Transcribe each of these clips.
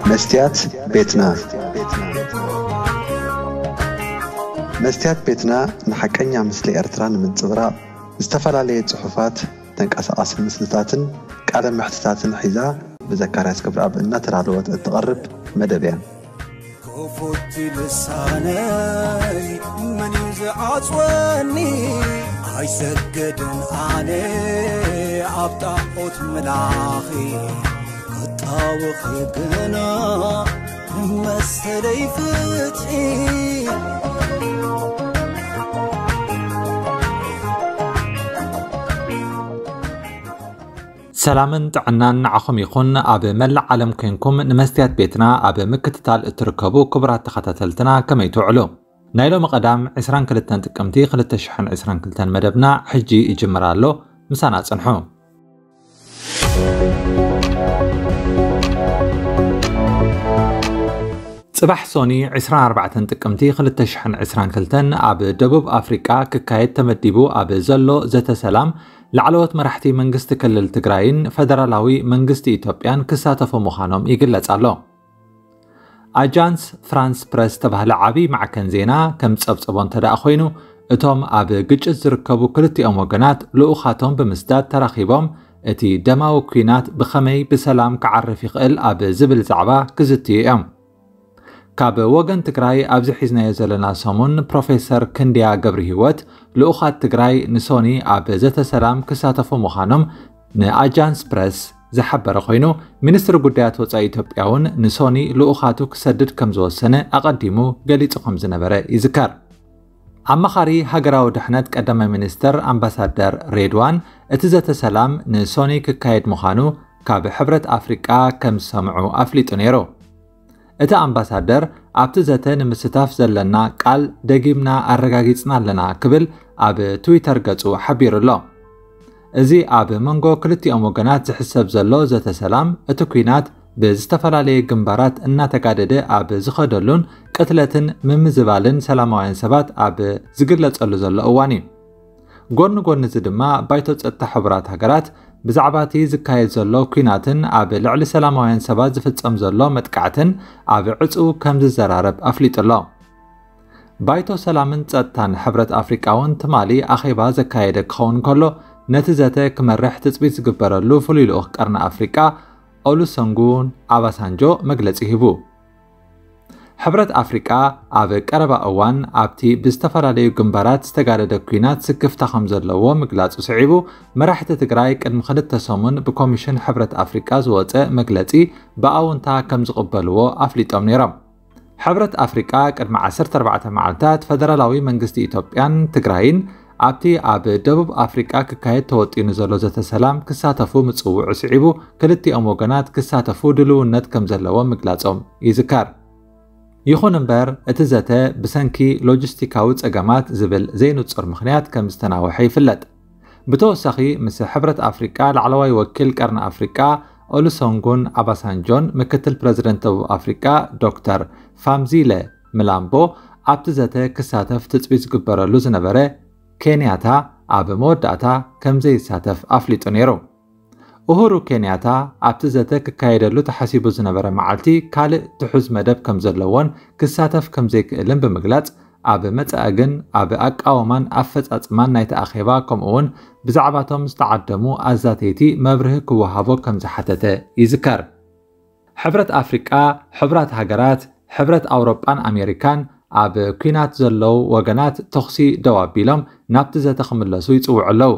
መስትያት ቤትና። መስትያት ቤትና ንሓቀኛ ምስሊ ኤርትራ ንምንጽብራቕ ዝተፈላለየ ጽሑፋት፣ ተንቀሳቓሲ ምስልታትን ቃለ መሕትታትን ሒዛ ብዘካርያስ ገብረኣብ እናተዳለወት እትቐርብ መደብ እያ። ክፉት ልሳነይ መን እዩ ዝዓጽወኒ? ኣይሰግድን ኣነ ኣብ ጣዖት ምላኺ፣ ክጣወኺ ግና ንመሰለይ ፍትሒ። ሰላምን ጥዕናን ንዓኹም ይኹን። ኣብ መላእ ዓለም ኮንኩም ንመስትያት ቤትና ኣብ ምክትታል እትርከቡ ክቡራት ተኸታተልትና ከመይ ትውዕሉ? ናይ ሎሚ ቀዳም ዕስራን ክልተን ጥቅምቲ ክልተ ሽሕን ዕስራን ክልተን መደብና ሕጂ ይጅምር ኣሎ። ምሳና ጽንሑ። ጽባሕ ሶኒ ዕስራን ኣርባዕተን ጥቅምቲ ክልተ ሽሕን ዕስራን ክልተን ኣብ ደቡብ ኣፍሪቃ ክካየድ ተመዲቡ ኣብ ዘሎ ዘተ ሰላም ላዕለዎት መራሕቲ መንግስቲ ክልል ትግራይን ፈደራላዊ መንግስቲ ኢትዮጵያን ክሳተፉ ምዃኖም ይግለጽ ኣሎ። ኣጃንስ ፍራንስ ፕረስ ዝተባህለ ዓቢ ማዕከን ዜና ከም ጸብጸቦ እንተ ደኣ ኮይኑ፣ እቶም ኣብ ግጭት ዝርከቡ ክልቲኦም ወገናት ልኡኻቶም ብምስዳድ ተራኺቦም እቲ ደማዊ ኲናት ብኸመይ ብሰላም ክዓርፍ ይኽእል ኣብ ዝብል ዛዕባ ክዝትዩ እዮም። ካብ ወገን ትግራይ ኣብዚ ሒዝናዮ ዘለና ሰሙን ፕሮፌሰር ክንድያ ገብረሂወት ልኡኻት ትግራይ ንሶኒ ኣብ ዘተ ሰላም ክሳተፉ ምዃኖም ንኣጃንስ ፕረስ ዝሓበረ ኮይኑ፣ ሚኒስትሪ ጉዳያት ወጻኢ ኢትዮጵያ እውን ንሶኒ ልኡኻቱ ክሰድድ ከም ዝወሰነ ኣቐዲሙ ገሊጹ ከም ዝነበረ ይዝከር። ኣማኻሪ ሃገራዊ ድሕነት ቀዳማይ ሚኒስትር ኣምባሳደር ሬድዋን እቲ ዘተ ሰላም ንሶኒ ክካየድ ምዃኑ ካብ ሕብረት ኣፍሪቃ ከም ዝሰምዑ ኣፍሊጡ ነይሩ። እቲ ኣምባሳደር ኣብቲ ዘተ ንምስታፍ ዘለና ቃል ደጊምና ኣረጋጊጽና ኣለና ክብል ኣብ ትዊተር ገጹ ሓቢሩ ኣሎ። እዚ ኣብ መንጎ ክልቲኦም ወገናት ዝሕሰብ ዘሎ ዘተ ሰላም፣ እቲ ኲናት ብዝተፈላለየ ግንባራት እናተጋደደ ኣብ ዝኸደሉን ቅትለትን ምምዝባልን ሰላማውያን ሰባት ኣብ ዝግለጸሉ ዘሎ እዋን እዩ። ጎኒ ጎኒ እዚ ድማ ባይቶ ጸጥታ ሕቡራት ሃገራት ብዛዕባ እቲ ዝካየድ ዘሎ ኲናትን ኣብ ልዕሊ ሰላማውያን ሰባት ዝፍጸም ዘሎ መጥቃዕትን ኣብ ዕጹው ከም ዝዘራረብ ኣፍሊጡ ኣሎ። ባይቶ ሰላምን ጸጥታን ሕብረት ኣፍሪቃ እውን ትማሊ ኣኼባ ዘካየደ ክኸውን ከሎ፣ ነቲ ዘተ ክመርሕ ትጽቢት ዝግበረሉ ፍሉይ ልኡኽ ቀርኒ ኣፍሪቃ ኦሉሰንጉን ኣባሳንጆ መግለጺ ሂቡ። ሕብረት ኣፍሪቃ ኣብ ቀረባ እዋን ኣብቲ ብዝተፈላለዩ ግንባራት ዝተጋደደ ኲናት ስክፍታ ከም ዘለዎ ምግላጹ ስዒቡ፣ መራሕቲ ትግራይ ቅድሚ ክልተ ሰሙን ብኮሚሽን ሕብረት ኣፍሪቃ ዝወጸ መግለጺ ብኣውንታ ከም ዝቕበልዎ ኣፍሊጦም ነይሮም። ሕብረት ኣፍሪቃ ቅድሚ ዓሰርተ ኣርባዕተ መዓልታት ፈደራላዊ መንግስቲ ኢትዮጵያን ትግራይን ኣብቲ ኣብ ደቡብ ኣፍሪቃ ክካየድ ተወጢኑ ዘሎ ዘተ ሰላም ክሳተፉ ምጽውዑ ስዒቡ፣ ክልቲኦም ወገናት ክሳተፉ ድልውነት ከም ዘለዎም ምግላጾም ይዝከር። ይኹን እምበር፣ እቲ ዘተ ብሰንኪ ሎጂስቲካዊ ጸገማት ዝብል ዘይንጹር ምኽንያት ከም ዝተናውሐ ይፍለጥ። ብተወሳኺ፣ ምስ ሕብረት ኣፍሪቃ ላዕለዋይ ወኪል ቀርኒ ኣፍሪቃ ኦሉሰንጉን ኣባሳንጆን ምክትል ፕረዚደንት ደቡብ ኣፍሪቃ ዶክተር ፋምዚለ ምላምቦ ኣብቲ ዘተ ክሳተፍ ትጽቢት ዝግበረሉ ዝነበረ ኬንያታ ኣብ መወዳእታ ከም ዘይሳተፍ ኣፍሊጡ ነይሩ። ኡሁሩ ኬንያታ ኣብቲ ዘተ ክካየደሉ ተሓሲቡ ዝነበረ መዓልቲ ካልእ ትሑዝ መደብ ከም ዘለዎን ክሳተፍ ከም ዘይክእልን ብምግላጽ፣ ኣብ መጻኢ ግን ኣብ ኣቃውማን ኣፈጻጽማን ናይቲ ኣኼባ ከምኡ'ውን ብዛዕባቶም ዝተዓደሙ ኣዛተይቲ መብርሂ ክወሃቦ ከም ዝሓተተ ይዝከር። ሕብረት ኣፍሪቃ፣ ሕቡራት ሃገራት፣ ሕብረት ኣውሮጳን ኣሜሪካን ኣብ ኲናት ዘለዉ ወገናት ተኹሲ ደው ኣቢሎም ናብቲ ዘተ ክምለሱ ይጽውዑ ኣለዉ።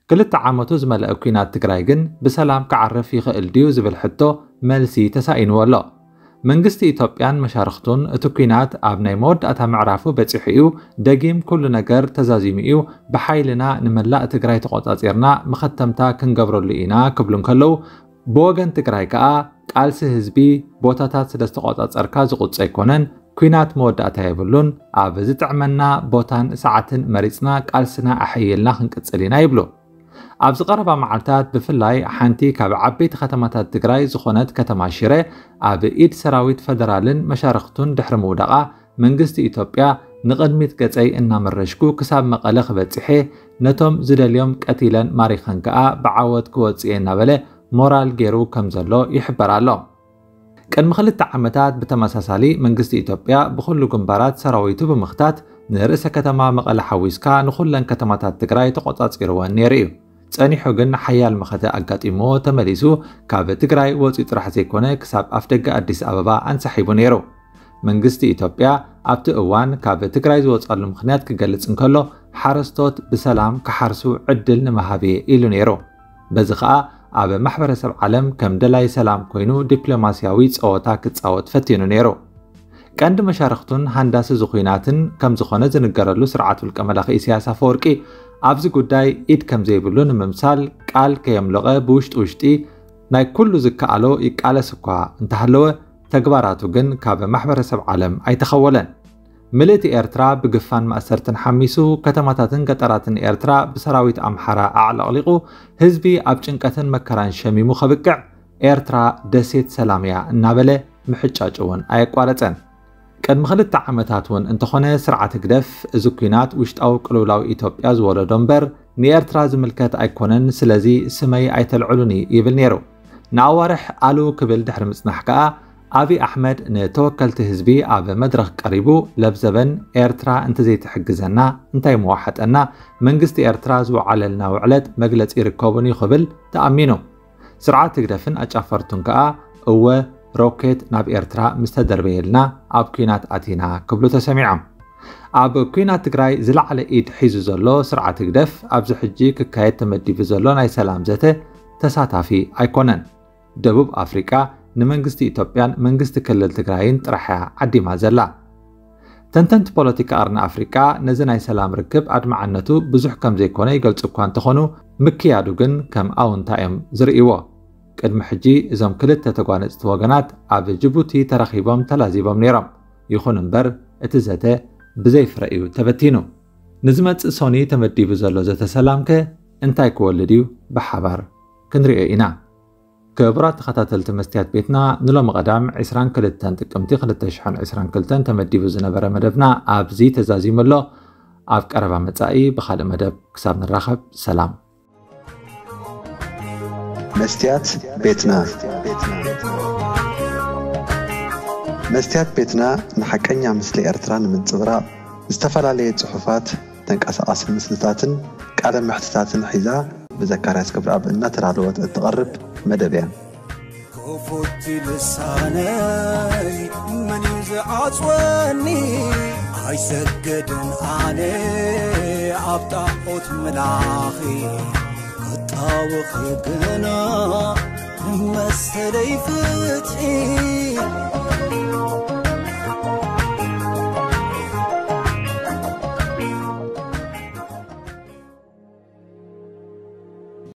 ክልተ ዓመቱ ዝመልአ ኲናት ትግራይ ግን ብሰላም ክዓርፍ ይኽእል ድዩ ዝብል ሕቶ መልሲ ተሳኢንዎ ኣሎ። መንግስቲ ኢትዮጵያን መሻርኽቱን እቲ ኲናት ኣብ ናይ መወዳእታ ምዕራፉ በጺሑ እዩ፣ ደጊም ኩሉ ነገር ተዛዚሙ እዩ፣ ብሓይልና ንመላእ ትግራይ ተቖጻጺርና መኸተምታ ክንገብረሉ ኢና ክብሉ እንከለዉ፣ ብወገን ትግራይ ከኣ ቃልሲ ህዝቢ ቦታታት ስለ ዝተቖጻጸርካ ዝቑጸ ኣይኮነን፣ ኲናት መወዳእታ የብሉን፣ ኣብ ዝጥዕመና ቦታን ሰዓትን መሪጽና ቃልስና ኣሐይልና ክንቅጽል ኢና ይብሉ። ኣብዚ ቀረባ መዓልታት ብፍላይ ሓንቲ ካብ ዓበይቲ ከተማታት ትግራይ ዝኾነት ከተማ ሽረ ኣብ ኢድ ሰራዊት ፈደራልን መሻርኽቱን ድሕሪ ምውዳቓ፣ መንግስቲ ኢትዮጵያ ንቕድሚት ገጸይ እናመረሽኩ ክሳብ መቐለ ክበጽሕ እየ፣ ነቶም ዝደልዮም ቀቲለን ማሪኸን ከኣ ብዓወት ክወጽእ እየ እናበለ ሞራል ገይሩ ከም ዘሎ ይሕበር ኣሎ። ቅድሚ ክልተ ዓመታት ብተመሳሳሊ መንግስቲ ኢትዮጵያ ብኹሉ ግንባራት ሰራዊቱ ብምኽታት ንርእሰ ከተማ መቐለ ሓዊስካ ንኹለን ከተማታት ትግራይ ተቖጻጺርወን ነይሩ እዩ። ጸኒሑ ግን ሓያል መኸተ ኣጋጢምዎ ተመሊሱ ካብ ትግራይ ወፂኡ ጥራሕ ዘይኮነ ክሳብ ኣፍደገ ኣዲስ ኣበባ ኣንሳሒቡ ነይሩ። መንግስቲ ኢትዮጵያ ኣብቲ እዋን ካብ ትግራይ ዝወፀሉ ምኽንያት ክገልጽ እንከሎ ሓረስቶት ብሰላም ክሓርሱ ዕድል ንምሃብ እየ ኢሉ ነይሩ። በዚ ኸኣ ኣብ ማሕበረሰብ ዓለም ከም ደላይ ሰላም ኮይኑ ዲፕሎማስያዊ ጸወታ ክጻወት ፈቲኑ ነይሩ። ቀንዲ መሻርኽቱን ሃንዳሲ ዝኹናትን ከም ዝኾነ ዝንገረሉ ስርዓት ውልቀ መላኺ ኢሳያስ ኣፈወርቂ ኣብዚ ጉዳይ ኢድ ከም ዘይብሉ ንምምሳል ቃል ከየምለቐ ብውሽጢ ውሽጢ ናይ ኩሉ ዝከኣሎ ይቃለስ እኳ እንተሃለወ ተግባራቱ ግን ካብ ማሕበረሰብ ዓለም ኣይተኸወለን። ምልእቲ ኤርትራ ብግፋን ማእሰርትን ሓሚሱ ከተማታትን ገጠራትን ኤርትራ ብሰራዊት ኣምሓራ ኣዕለቕሊቑ ህዝቢ ኣብ ጭንቀትን መከራን ሸሚሙ ከብቅዕ ኤርትራ ደሴት ሰላም እያ እናበለ ምሕጫጭ እውን ኣየቋረጸን። ቅድሚ ክልተ ዓመታት እውን እንተኾነ ስርዓት ህግደፍ እዚ ኲናት ውሽጣዊ ቅልውላው ኢትዮጵያ ዝወለዶ እምበር ንኤርትራ ዝምልከት ኣይኮነን፣ ስለዚ ስመይ ኣይተልዕሉኒ ይብል ነይሩ። ንኣዋርሕ ኣሉ ክብል ድሕሪ ምጽናሕ ከኣ ኣብይ ኣሕመድ ንተወከልቲ ህዝቢ ኣብ መድረኽ ቀሪቡ ለብዘበን ኤርትራ እንተዘይትሕግዘና እንታይ ምወሓጠና፣ መንግስቲ ኤርትራ ዝወዓለልና ውዕለት መግለጺ ይርከቡን እዩ ክብል ተኣሚኑ። ስርዓት ህግደፍን ኣጫፈርቱን ከኣ እወ ሮኬት ናብ ኤርትራ ምስ ተደርበየልና ኣብ ኲናት ኣቲና ክብሉ ተሰሚዖም። ኣብ ኲናት ትግራይ ዝለዓለ ኢድ ሒዙ ዘሎ ስርዓት ህግደፍ ኣብዚ ሕጂ ክካየድ ተመዲቡ ዘሎ ናይ ሰላም ዘተ ተሳታፊ ኣይኮነን። ደቡብ ኣፍሪቃ ንመንግስቲ ኢትዮጵያን መንግስቲ ክልል ትግራይን ጥራሕ እያ ዓዲማ ዘላ። ተንተንቲ ፖለቲካ ቀርኒ ኣፍሪቃ ነዚ ናይ ሰላም ርክብ ኣድማዕነቱ ብዙሕ ከም ዘይኮነ ይገልጹ እኳ እንተኾኑ ምክያዱ ግን ከም ኣውንታ እዮም ዝርእይዎ። ቅድሚ ሕጂ እዞም ክልተ ተጓነጽቲ ወገናት ኣብ ጅቡቲ ተራኺቦም ተላዚቦም ነይሮም። ይኹን እምበር እቲ ዘተ ብዘይ ፍረ እዩ ተበቲኑ። ንዝመጽእ ሶኒ ተመዲቡ ዘሎ ዘተ ሰላም ከ እንታይ ክወልድ እዩ? ብሓባር ክንሪኦ ኢና። ክቡራት ተኸታተልቲ መስትያት ቤትና ንሎሚ ቀዳም ዕስራን ክልተን ጥቅምቲ ክልተ ሽሕን ዕስራን ክልተን ተመዲቡ ዝነበረ መደብና ኣብዚ ተዛዚሙ ኣሎ። ኣብ ቀረባ መጻኢ ብኻልእ መደብ ክሳብ ንራኸብ ሰላም። መስትያት ቤትና መስትያት ቤትና ንሓቀኛ ምስሊ ኤርትራ ንምንጽብራቕ ዝተፈላለየ ጽሑፋት፣ ተንቀሳቓሲ ምስልታትን ቃለ መሕትታትን ሒዛ ብዘካርያስ ክብረኣብ እናተዳለወት እትቐርብ መደብ እያ። ክፉት ልሳነይ መን እዩ ዝዓጽወኒ? ኣይሰገድን ኣነ ኣብ ጣዖት ምላኺ ክጣወኺ ግና መሰለይ ፍትሒ